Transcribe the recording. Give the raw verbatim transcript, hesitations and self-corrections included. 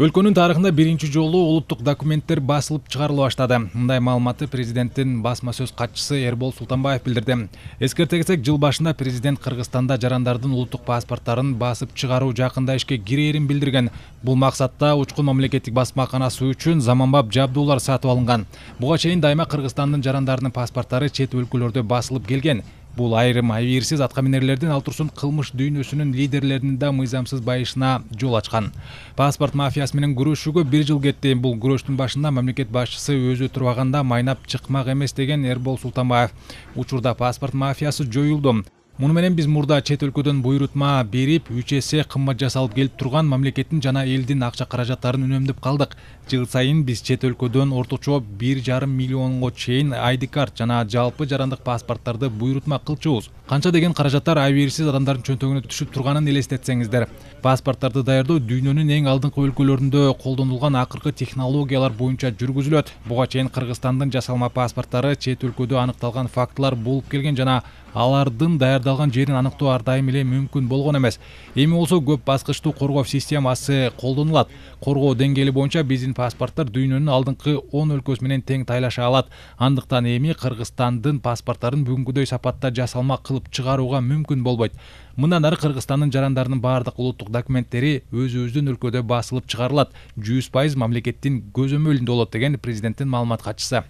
Өлкөнүн тарыхында биринчи жолу улуттук документтер басылып чыгарыла баштады. Мындай маалыматты президенттин басма сөз катчысы Эрбол Султанбаев билдирди. Эскерте кетсек, жыл башында президент Кыргызстанда жарандардын улуттук паспорттарын басып чыгаруу жакында ишке кирээрин билдирген. Бул максатта Учкун мамлекеттик басмаканасы үчүн заманбап жабдуулар сатып алынган. Буга чейин дайыма Кыргызстандын жарандарынын паспорттары чет өлкөлөрдө басылып келген. Бул айрым абийирсиз аткаминерлердин, ал турсун кылмыш дүйнөсүнүн лидерлеринин да мыйзамсыз байышына жол ачкан. Паспорт мафиясы менен күрөшүүгө бир жыл кетти. Бул күрөштүн башында мамлекет башчысы өзү турбаганда майнап чыкмак эмес деген Эрбол Султанбаев. Учурда паспорт мафиясы жоюлду. Муну менен биз мурда чет өлкөдөн буйрутма берип, үч эсе кымбат жасалып келип турган мамлекеттин жана элдин акча каражаттарын үнөмдөп калдык. Жыл сайын биз чет өлкөдөн орточо бир жарым миллионго чейин ай ди карт жана жалпы жарандык паспорттарды буйрутма кылчубуз. Канча деген каражаттар абийирсиз адамдардын чөнтөгүнө түшүп турганын элестетсеңиздер. Паспорттарды даярдоо дүйнөнүн эң алдыңкы өлкөлөрүндө колдонулган акыркы технологиялар боюнча жүргүзүлөт. Буга чейин Кыргызстандын жасалма паспорттары чет өлкөдө аныкталган фактылар болуп келген жана алардын даярдалган жерин аныктоо ар дайым эле мүмкүн болгон эмес. Эми болсо көп баскычтуу коргоо системасы колдонулат. Коргоо деңгээли боюнча биздин паспорттор дүйнөнүн алдыңкы он өлкөсү менен тең тайлаша алат. Андыктан эми Кыргызстандын паспорттарын бүгүнкүдөй сапатта жасалма кылып чыгарууга мүмкүн болбойт. Мындан ары Кыргызстандын жарандарынын баардык улуттук документтери өзүбүздүн өлкөдө басылып чыгарылат. жүз пайыз мамлекеттин көзөмөлүндө болот деген президенттин маалымат катчысы.